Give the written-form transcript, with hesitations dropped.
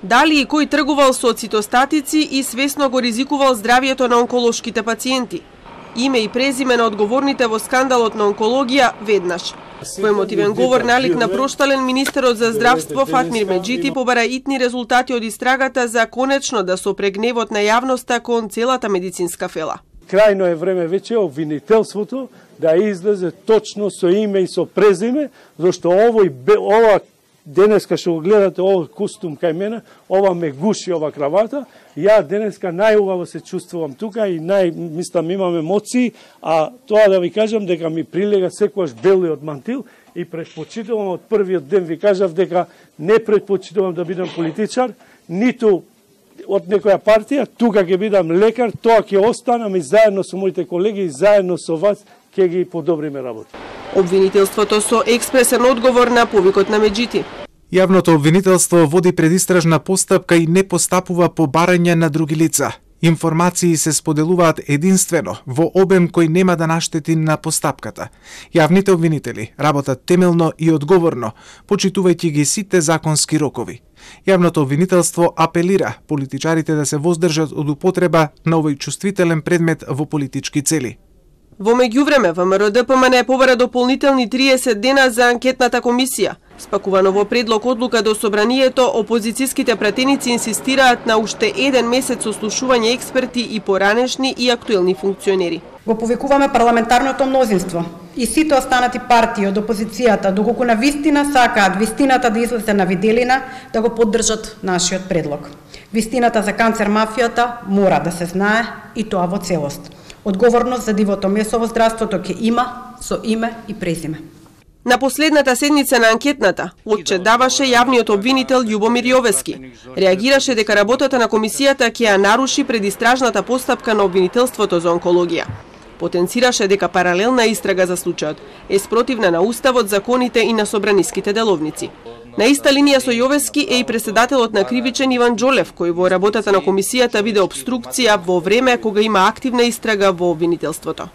Дали и кој тргувал со цитостатици и свесно го ризикувал здравието на онколошките пациенти? Име и презиме на одговорните во скандалот на онкологија веднаш. Во емотивен говор налик на проштален министерот за здравство Фатмир Меджити побара итни резултати од истрагата за конечно да сопре гневот на јавноста кон целата медицинска фела. Крајно е време веќе обвинителството да излезе точно со име и со презиме, зашто ова денеска што го гледате овој костум кај мене, ова ме гуши ова кравата. Ја денеска најубаво се чувствувам тука и мислам имам емоции, а тоа да ви кажам дека ми прилега секогаш белиот мантил и предпочитувам од првиот ден ви кажав дека не предпочитувам да бидам политичар, ниту од некоја партија, тука ќе бидам лекар, тоа ќе останам и заедно со моите колеги и заедно со вас ќе ги подобриме работа. Обвинителството со експресен одговор на повикот на Меджити. Јавното обвинителство води предистражна постапка и не постапува по барање на други лица. Информации се споделуваат единствено во обем кој нема да наштети на постапката. Јавните обвинители работат темелно и одговорно, почитувајќи ги сите законски рокови. Јавното обвинителство апелира политичарите да се воздржат од употреба на овој чувствителен предмет во политички цели. Во меѓувреме, ВМРО ДПМН побара дополнителни 30 дена за анкетната комисија. Спакувано во предлог одлука до собранието, опозицијските пратеници инсистираат на уште еден месец сослушување експерти и поранешни и актуелни функционери. Го повикуваме парламентарното мнозинство и сите останати партии од опозицијата, доколку на вистина сакаат вистината да излезе на виделина, да го поддржат нашиот предлог. Вистината за канцер мафијата мора да се знае и тоа во целост. Одговорност за дивото месо во здравството ќе има со име и презиме. На последната седница на анкетната, отчет даваше јавниот обвинител Љубомир Јовески. Реагираше дека работата на комисијата ќе ја наруши предистражната постапка на обвинителството за онкологија. Потенцираше дека паралелна истрага за случајот е спротивна на уставот, законите и на собраниските деловници. На иста линија со Јовески е и председателот на Кривичен Иван Џолев, кој во работата на комисијата биде обструкција во време кога има активна истрага во обвинителството.